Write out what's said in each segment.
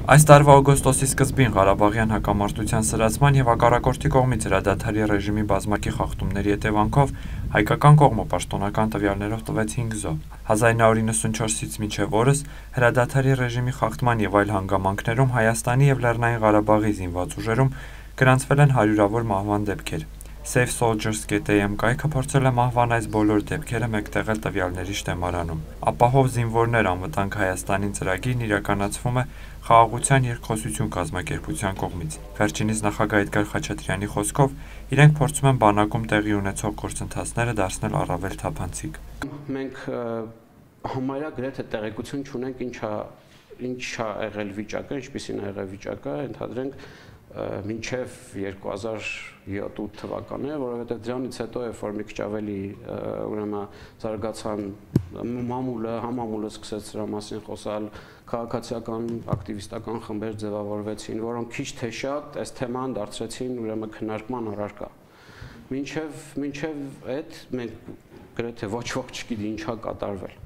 Այս տարվա օգոստոսի սկզբին Ղարաբաղյան հակամարտության սրացման և հակառակորդի կողմից հրադադարի ռեժիմի բազմակի խախտումների հետևանքով հայկական կողմը պաշտոնական տվյալներով տվեց 5 զոհ։ 1994-ից մինչև օրս հրադադարի ռեժիմի խախտման և այլ հանգամանքներում Հայաստանի և Լեռնային Ղարաբաղի զինված ուժերում գրանցվել են հարյուրավոր մահվան դեպքեր։ SafeSoldiers.am կայքը փորձել է մահվան այս բոլոր դեպքերը մեկտեղել տվյալների շտեմարանում։ Ապահով զինվորներ անվտանգ Հայաստանին ծրագիրն իրականացվում է Խաղաղության երկխոսություն կազմակերպության կողմից։ Վերջինիս նախագահ Էդգար Խաչատրյանի խոսքով իրենք փորձում են բանակում տեղի ունեցող գործընթացները դարձնել առավել թափանցիկ։ Մենք համարյա գրեթե տեղեկություն չունենք ինչա եղել վիճակը, ինչպիսին է եղել վիճակը, ընդհանրենք մինչև 2007-8 թվականները, որովհետև դրանից հետո երբ որ մի քիչ ավելի ուրեմն զարգացան համամուլը սկսեց դրա մասին խոսալ, քաղաքացիական ակտիվիստական խմբեր ձևավորվեցին, որոնք քիչ թե շատ այս թեման դարձրեցին ուրեմն քննարկման առարկա։ Մինչև այդ մենք գրեթե ոչ ոք չգիտի ինչա կատարվել։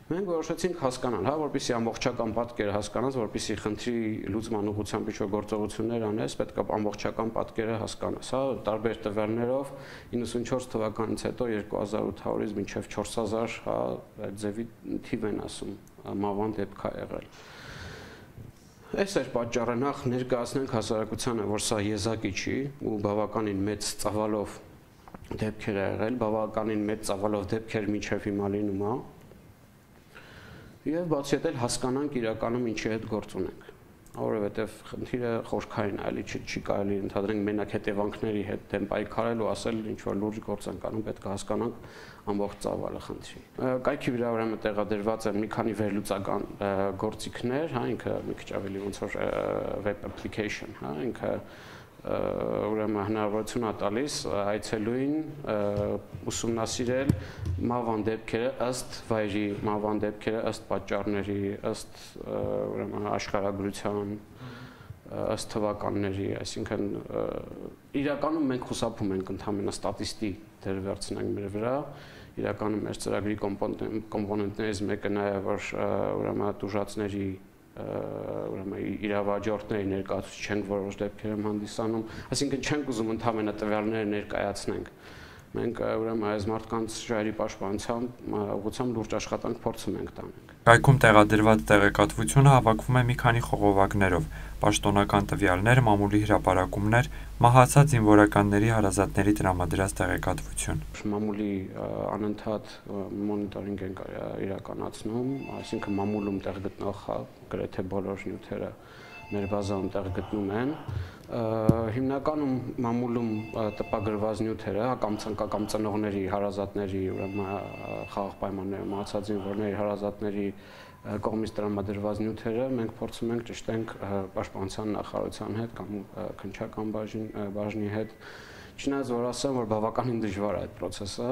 Մենք որոշեցինք հասկանալ, որպեսզի ամբողջական պատկերը հասկանաս, որպեսզի խնդրի լուծման ուղղությամբ ինչ-որ գործողություններ անես, պետք է ամբողջական պատկերը հասկանաս, տարբեր տվյալներով 94 թվականից հետո 2800-ից մինչև 4000, այդ ձևի թիվ են ասում, մահվան դեպք է եղել։ Այս էր պատճառը, նախ ներկայացնենք հասարակությանը, որ սա եզակի չի ու բավականին մեծ ծավալով դեպքեր է եղել, բավականին մեծ ծավալով դեպքեր մինչև հիմա լինում է։ Եվ բացի այդ հասկանանք իրականում ինչի հետ գործ ունենք, որովհետև խնդիրը խորքային է, էլի չի կարելի ընդհանրենք մենակ հետևանքների հետ դեմ պայքարել ու ասել ինչ որ լուրջ գործ ենք անում, պետք է հասկանանք ամբողջ ծավալը խնդրի։ Կայքի վրա ուրեմն տեղադրված են մի քանի վերլուծական գործիքներ, ինքը մի քիչ ավելի ոնց որ web application, ինքը ուրեմն հնարավորություն է տալիս այցելուին ուսումնասիրել մահվան դեպքերը ըստ վայրի, մահվան դեպքերը ըստ պատճառների, ըստ ուրեմն աշխարհագրության, ըստ թվականների, այսինքն իրականում մենք խուսափում ենք ընդհանրապես ստատիստի դեր վերցնենք մեր վրա, իրականում մեր ծրագրի կոմպոնենտներից մեկը նա է, որ ուրեմն տուժածների ուրեմն իրավաճառների ներկայացուցիչ չենք որոշ դեպքերում հանդիսանում, այսինքն չենք ուզում ընդհանրապես տվյալները ներկայացնենք։ Մենք ուրեմն այս մարդկանց ժայռի պաշտպանությամբ ուղղությամբ լուրջ աշխատանք փորձում ենք տանենք։ Կայքում տեղադրված տեղեկատվությունը հավաքվում է մի քանի խողովակներով՝ պաշտոնական տվյալներ, մամուլի հրապարակումներ, մահացած զինվորականների հարազատների տրամադրած տեղեկատվություն։ Մամուլի անընդհատ մոնիտորինգ ենք իրականացնում, այսինքն մամուլում տեղ գտնող գրեթե բոլոր նյութերը մեր բազայում տեղ գտնում են։ Հիմնականում մամուլում տպագրված նյութերը կամ ծնողների, հարազատների, ուրեմն խաղաղ պայմաններում մահացած զինվորների հարազատների կողմից տրամադրված նյութերը մենք փորձում ենք ճշտենք պաշտպանության նախարարության հետ կամ քննչական բաժնի հետ, չնայած որ ասեմ, որ բավականին դժվար է այդ process-ը։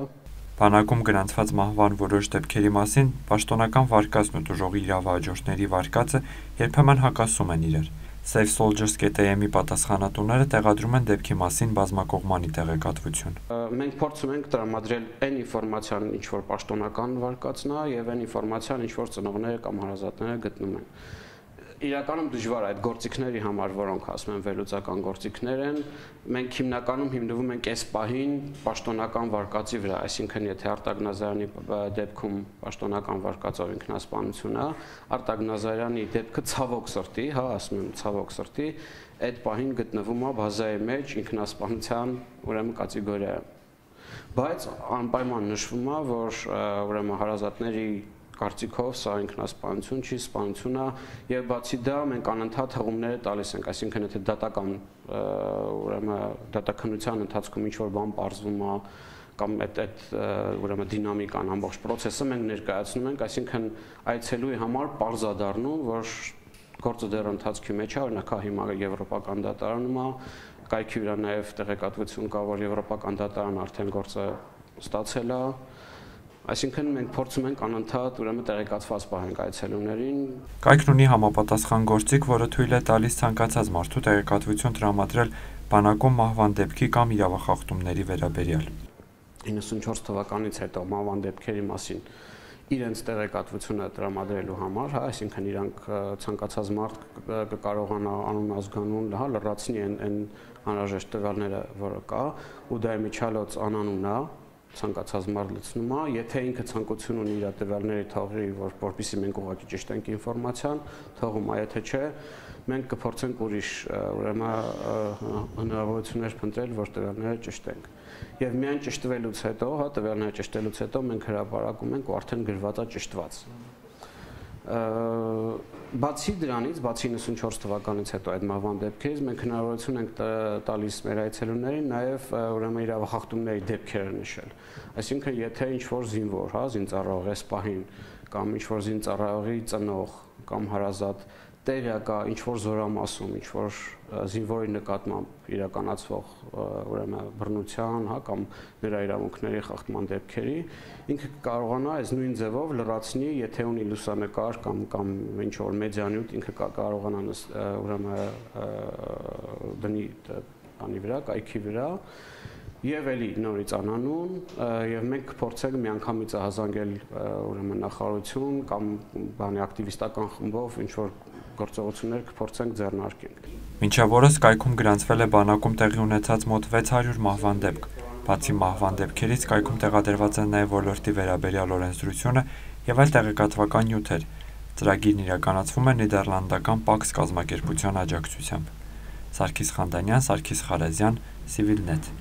Բանակում գրանցված մահվան որոշ դեպքերի մասին պաշտոնական վարկածն ու տուժողի իրավահաջորդների վարկածը երբեմն հակասում են իրար։ SafeSoldiers.am-ի պատասխանատուները տեղադրում են դեպքի մասին բազմակողմանի տեղեկատվություն։ Մենք փորձում ենք տրամադրել այն ինֆորմացիան, ինչ որ պաշտոնական վարկածն է, եւ այն ինֆորմացիան, ինչ որ ծնողները կամ հարազատները գտնում են։ Իրականում դժվար է այդ գործիքների համար, որոնք ասում են վերլուծական գործիքներ են, մենք հիմնականում հիմնվում ենք այս պահին պաշտոնական վարկածի վրա, այսինքն եթե Արտակ Նազարյանի դեպքում պաշտոնական վարկածով ինքնասպանություն է, Արտակ Նազարյանի դեպքը ցավոք սրտի, ասում եմ ցավոք սրտի, այդ պահին գտնվում է բազայի մեջ ինքնասպանության ուրեմն կատեգորիայում։ Բայց անպայման նշվում է, որ ուրեմն հարազատների կարծիքով սա ինքնասպանություն չի, սպանություն է, եւ բացի դա մենք անընդհատ հղումները տալիս ենք, այսինքն եթե դատական ուրեմն դատաքննության ընթացքում ինչ որ բան պարզվում է կամ այդ ուրեմն դինամիկան ամբողջ process-ը մենք ներկայացնում ենք, այսինքն այցելուի համար պարզ է դառնում, որ գործը դեռ ընթացքի մեջ է, օրինակ հիմա եվրոպական դատարանում է, կայքի վրա նաեւ տեղեկատվություն կա, որ եվրոպական դատարանը արդեն գործը ստացել է։ Այսինքն մենք փորձում ենք անընդհատ ուրեմն տեղեկացված պահենք այցելուներին։ Կայքն ունի համապատասխան գործիք, որը թույլ է տալիս ցանկացած մարդու տեղեկատվություն տրամադրել բանակում մահվան դեպքի կամ իրավախախտումների վերաբերյալ։ 94 թվականից հետո մահվան դեպքերի մասին իրենց տեղեկատվությունը տրամադրելու համար, հա, այսինքն իրանք ցանկացած մարդ կկարողանա անուն ազգանուն, հա, լրացնի այն անհրաժեշտ տվյալները, որը կա, ու դա միջալոց անանուն է, ցանկացած մարդ լցնում է, եթե ինքը ցանկություն ունի իր տվյալների թողի, որպեսզի մենք ուղղակի ճշտենք ինֆորմացիան, թողում է, եթե չէ, մենք կփորձենք ուրիշ ուրեմն հնարավորություններ փնտրել, որ տվյալները ճշտենք։ Եվ միայն ճշտվելուց հետո, հա, տվյալները ճշտելուց հետո մենք հրապարակում ենք ու արդեն գրված է ճշտված։ Բացի դրանից, բացի 94 թվականից հետո այդ մահվան դեպքերից մենք հնարավորություն ենք տալիս մեր այցելուներին նաև ուրեմն իրավախախտումների դեպքերը նշել։ Այսինքն, եթե ինչ-որ զինվոր, հա, զինծառայող էս պահին կամ ինչ-որ զինծառայողի ծնող կամ հարազատ տեղյակա ինչ-որ զորամասում, ինչ-որ զինվորի նկատմամբ իրականացվող ուրեմն բռնության, հա, կամ նրա իրավունքների խախտման դեպքերի, ինքը կարողանա այս նույն ձևով լրացնի, եթե ունի լուսանկար կամ ինչ-որ մեդիանյութ, ինքը կարողանա ուրեմն դնի բանի վրա, կայքի վրա, եւ էլի նորից անանուն, եւ մենք կփորձենք միանգամից հազանգել ուրեմն նախարարություն կամ բանի ակտիվիստական խմբով ինչ-որ գործողություններ կփորձենք ձեռնարկենք։ Մինչև օրս կայքում գրանցվել է բանակում տեղի ունեցած մոտ 600 մահվան դեպք։ Բացի մահվան դեպքերից կայքում տեղադրված են նաև ոլորտի վերաբերյալ օրենսդրությունը եւ այլ տեղեկատվական նյութեր։ Ծրագիրն իրականացվում է նիդերլանդական Pax կազմակերպության աջակցությամբ։ Սարգիս Խանդանյան, Սարգիս Խարազյան, Civilnet